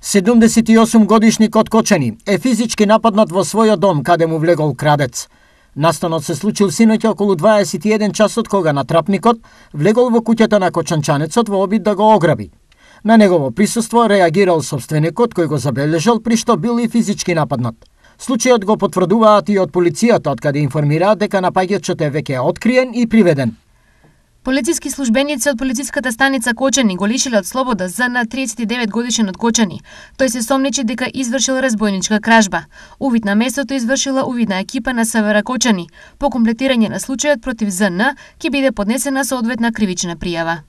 78 годишник од Кочани е физички нападнат во својот дом каде му влегол крадец. Настанот се случил синоќа околу 21 часот кога натрапникот влегол во куќата на кочанчанецот во обид да го ограби. На негово присуство реагирал сопственикот кој го забележал при што бил и физички нападнат. Случајот го потврдуваат и од полицијата, од каде информираат дека напаѓачот е веќе откриен и приведен. Полициски службеници од полициската станица Кочани го лишиле од слобода ЗН 39 годишен од Кочани. Тој се сомнечи дека извршил разбойничка кражба. Увид на местото извршила увидна екипа на СВР Кочани. По комплетирање на случајот против ЗН ќе биде поднесена соодветна кривична пријава.